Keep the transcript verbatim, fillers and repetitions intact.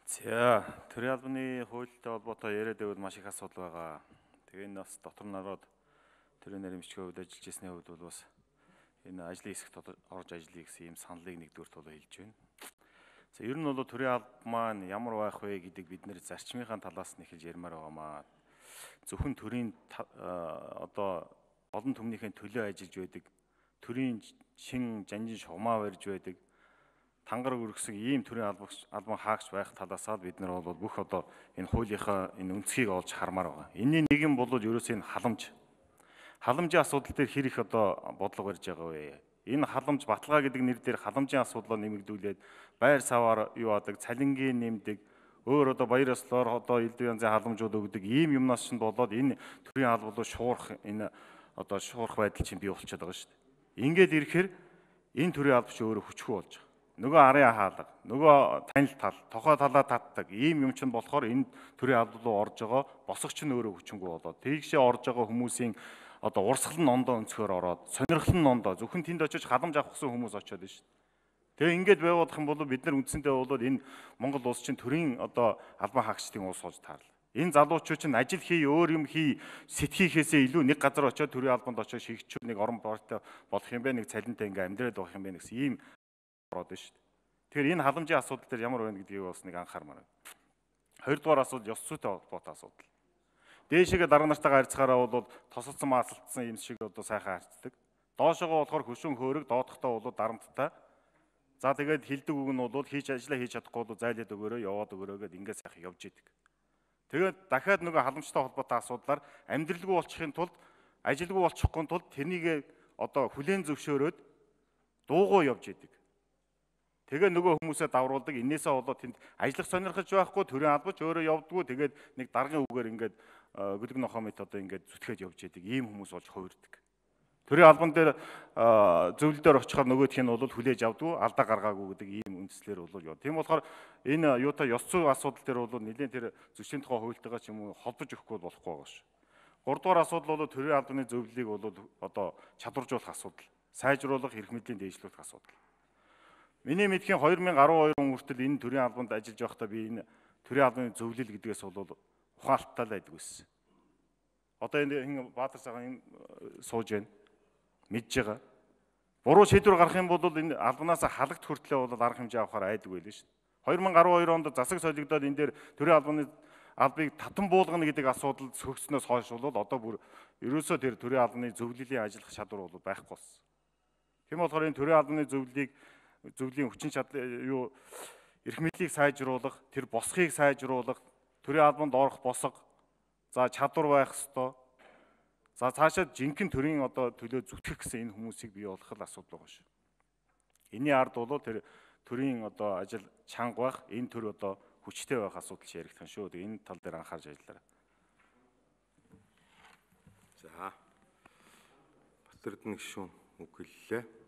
За, төрийн албаны хуультай холбоотой яриад байвал маш их асуудал байгаа. Тэгээ энэ бас дотор нараад төрийн нарийн бичгийн хувьд ажиллаж ирсний хувьд бол бас энэ ажлын хэсэгт орж ажиллая гэсэн ийм саналыг нэгдүгürt бол хэлж байна. За, ер нь бол төрийн алба маань ямар байх вэ гэдэг бид нэр зарчмынхаа талаас нь эхэлж ярмаар байгаамаа. Зөвхөн төрийн одоо олон түмнийхээ төлөө ажиллаж байдаг, төрийн шин жанжин шугамаа барьж байдаг, тангар өргөсөн ийм төрийн албан хаагч байх талаасаа бид нар бол бүх одоо энэ хуулийнхаа энэ үнцгийг олж хармаар байгаа. Энийн нэг юм бол ерөөсөө энэ халамж. Халамжийн асуудал дээр хэр их одоо бодлого барьж байгаа вэ? Энэ халамж баталгаа гэдэг нэр дээр халамжийн асуудлаа нэмэгдүүлээд байр саваар юу адаг, цалингийн нэмдэг, өөр одоо баяр ёслолоор одоо элдв янзын халамжууд өгдөг ийм юмнаас чинь болоод энэ төрийн албалуу шуурх энэ одоо шуурх байдал чинь бий болчиход байгаа шүү дээ. Ингээд ирэхээр энэ төрийн алба чинь өөрөө хүчгүй болж байгаа. Нөгөө арын хаалга, нөгөө танил тал, тохой талаа татдаг ийм юм чинь болохоор энэ төрийн алба руу орж байгаа босгоч нь өөрөө хүчингүй болоод тэгшээ орж байгаа хүмүүсийн одоо урсгал нь ондоо өнцгөр ороод сонирхол нь ондоо зөвхөн тэнд очиж халамж авах гэсэн хүмүүс очиод байна шүү дээ. Тэгээ ингээд байвуудах юм бол бид нар үндсэндээ бол энэ Монгол улс чинь төрийн одоо албан хаагчдын улс болж таарлаа. Энэ залуучууд чинь ажил хий, өөр юм хий, сэтгэхээсээ илүү нэг газар очиод төрийн албанд очиод шигчүүд нэг орон бортой болох юм бэ, нэг цалинтай ингээ амьдраад байх юм бэ гэсэн ийм ороод байна шүү дээ. Тэгэхээр энэ халамжийн асуудал дээр ямар байна гэдгийг бас нэг анхаармаар байна. Хоёрдугаар асуудал ёс зүйтэй холбоотой асуудал. Дээшээгээ дарга нартайгаа харьцахаараа бол тосолцсон маасалтсан юм шиг одоо сайхан харьцдаг. Доошоогоо болохоор хөшүүн хөөрөг, доодохтой бол дарамттай. За тэгээд хилдэг үг нь бол хийж ажиллаа хийж чадахгүй бол зайлаад өгөөрэй, яваад өгөөрэй гэдээ ингээд сайхан явж идэг. Тэгээд дахиад нөгөө халамжтай холбоотой асуудлаар амьдралгүй болчихын тулд, ажилгүй болчихгүй тулд тэрнийг одоо хүлээн зөвшөөрөөд дуугуу явж идэг. Тэгээ нөгөө хүмүүсээ давруулдаг. Инээсээ болоод тэнд ажиллах сонирхож байхгүй, төрийн албач өөрөө явдггүй. Тэгээд нэг даргын үгээр ингээд гөлөг нохомит одоо ингээд зүтгэж явж идэг. Ийм хүмүүс болж хувирдаг. Төрийн албан дээр зөвлөлдөр очихоор нөгөөх нь бол хүлээж авдгүй, алдаа гаргаагүй гэдэг ийм үндслээр бол яа. Тийм болохоор энэ юутай ёс зүйн асуудал дээр бол нэлээд тэр зөрчлийн тухай хуультайгаа ч юм уу холбож өгөхгүй болохгүй байгаа ш. Гуравдугаар асуудал бол төрийн албаны зөвлөлийг бол одоо чадваржуулах асуудал, сайжруулах, эрх мэдлийн дээшлүүлэх асуудал. Миний мэдхийн две тысячи двадцать two он хүртэл энэ төрийн албанд ажиллаж байхдаа би энэ төрийн албаны зөвлөл гэдгээс бол ухаалттай л байдаг байсан. Одоо энэ Баатар цагаан сууж байна. Мэдж байгаа. Буруу шийдвэр гарах юм бол энэ албанаас халагт хүртлээ бол арга хэмжээ авахаар айдаг байлээ шүү дээ. две тысячи двадцать two онд засаг солигдоод энэ дээр төрийн албаны албыг татан буулгана гэдэг асуудал сөгснөөс хойш бол одоо бүр ерөөсөө тэр төрийн албаны зөвлөлийн ажиллах чадвар бол байхгүй болсон. Тийм болохоор энэ төрийн албаны зөвлөлийг зөвлөлийн хүчин чадал юу эрх мэдлийг сайжруулах, тэр босхийг сайжруулах, төрийн албанд орох босго, за чадвар байх ёстой. За цаашаа жинхэнэ төрийн одоо төлөө зүтгэх гэсэн энэ хүмүүсийг бий болгох л асуудал байгаа шүү. Энийн ард бол тэр төрийн одоо ажил чанга байх, энэ төр одоо хүчтэй байх асуудал яригдах шүү. Энэ тал дээр анхаарч ажиллаарай. За. Батэрдэн гишүүн үг хэллээ.